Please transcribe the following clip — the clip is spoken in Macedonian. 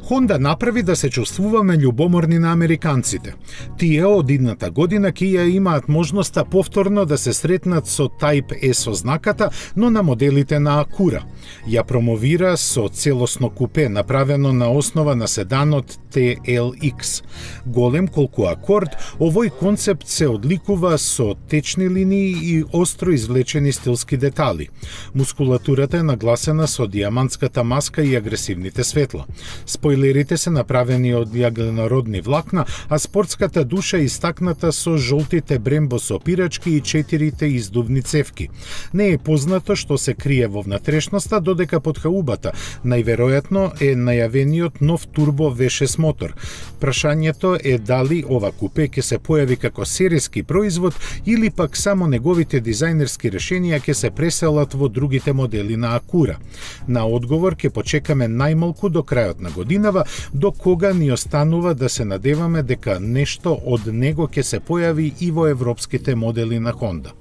Honda направи да се чувствуваме љубоморни на американците. Тие од идната година ќе ја имаат можноста повторно да се сретнат со Type S ознаката, но на моделите на Acura. Ја промовира со целосно купе, направено на основа на седанот TLX. Голем колку Accord, овој концепт се одликува со течни линии и остро извлечени стилски детали. Мускулатурата е нагласена со диамантската маска и агресивните светла. Спойлерите се направени од јагленородни влакна, а спортската душа е истакната со жолтите Brembo сопирачки и 4 издувни цевки. Не е познато што се крие во внатрешноста, додека под хаубата најверојатно е најавениот нов турбо V6 мотор. Прашањето е дали ова купе ќе се појави како серијски производ или пак само неговите дизајнерски решенија ќе се преселат во другите модели на Acura. На одговор ќе почекаме најмалку до крајот на годинава, до кога ни останува да се надеваме дека нешто од него ќе се појави и во европските модели на Honda.